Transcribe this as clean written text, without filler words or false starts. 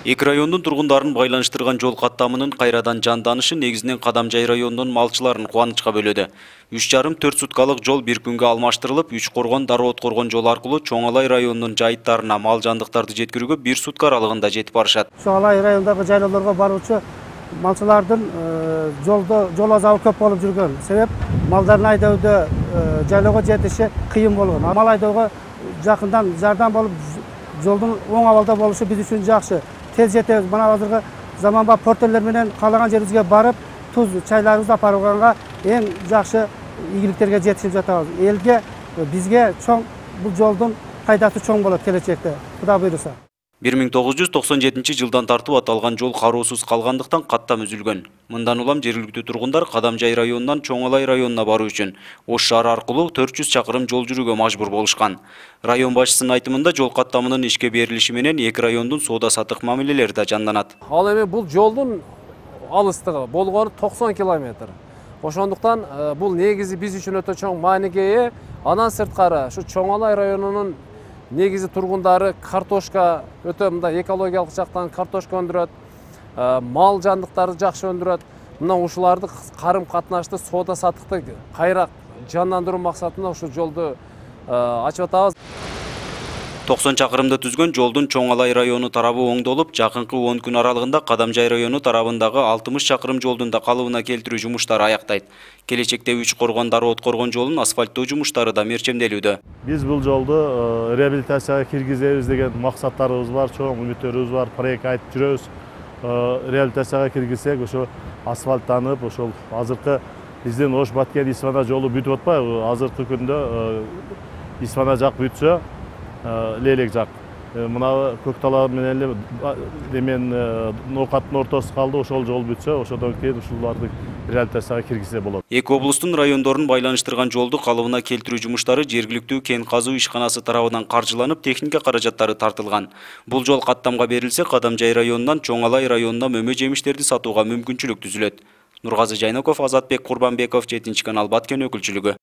Эки райондун тургундарын байланыштырган жол каттамынын кайрадан жанданышы негизинен Кадамжай районунун малчыларын кубанычка бөлөдү. 3,5–4 суткалык жол бир күнгө алмаштырылып, Үч-Коргон, Дароо-Откоргон жолу аркылуу Чоң Алай районунун жайыттарына мал жандыктарды жеткирүүгө 1 сутка аралыгында жетип барышат. Чоң Алай районундагы жайлоолорго баруучу малчылардын жол азабы көп болуп жүргөн. Себеп малдарын айдоодо жайлоого жетиши кыйын болгон. Мал айдоого жакындан жардам болуп, жолдун оң абалда болушу биз үчүн жакшы. Тез жетебиз. Мына азыркы заманбап портерлер менен каалаган жерибизге барып, туз чайларыбызды апарганга эң жакшы ийгиликтерге жетишип жатабыз. Элге, бизге чоң бул жолдун пайдасы чоң болот келечекте. Кудай буйруса. 1997 жылдан тартып аталган жол кароосуз калгандыктан каттам үзүлгөн. Мындан улам жергиликтүү тургундар Кадамжай районунан Чоң Алай районуна баруу үчүн Ош шаары аркылуу 400 чакырым жол жүрүүгө мажбур болушкан. Район башчысынын айтымында жол каттамынын ишке берилиши менен эки райондун соода-саттык мамилелери да жанданат. Ал эми бул жолдун алыстыгы болгону 90 километр. Ошондуктан бул негизи биз үчүн өтө чоң мааниге ээ. Андан сырткары ушу Чоң Алай районунун негизи тургундары картошка өтө мындай экологиялык жактан картошка өндүрөт, мал жандыктарды жакшы өндүрөт. Мына ушуларды карым катнашты, соода саттыкты кайра жандандыруу максатында ушу жолду ачып атабыз. 90 чакырымды түзгөн жолдун Чоң Алай району тарабы оңдолуп, жакынкы 10 күн аралыгында Кадамжай району тарабындагы 60 чакырым жолдун да калыбына келтирүү жумуштары аяктайт. Келечекте Үч-Коргон, Дароо-Откоргон жолун асфальттоо жумуштары да мерчемделүүдө. Биз бул жолду реабилитацияга киргизебиз деген максаттарыбыз бар, чоң үмүттөрүбүз бар, проект айтып жүрөбүз. Реабилитацияга киргизсек, ошо асфальттанып, ошол азыркы биздин Ош-Баткен Исфана жолу бүтүп атпайбы? Азыркы күндө Исфана жак бүтсө, Лелек жак. Мына Көктала менен Ноокаттын ортосу калды, ошол жол бүтсө, ошодон кийин ушуларды реабилитацияга киргизсе болот. Эки облустун райондорун байланыштырган жолду калыбына келтирүү жумуштары жергиликтүү кен казуу ишканасы тарабынан каржыланып, техника каражаттары тартылган. Бул жол каттамга берилсе, Кадамжай районунан Чоң Алай районуна мөмө жемиштерди сатууга мүмкүнчүлүк түзүлөт. Нургазы Жайноков, Азатбек Курбанбеков, 7 канал Баткен өкүлчүлүгү.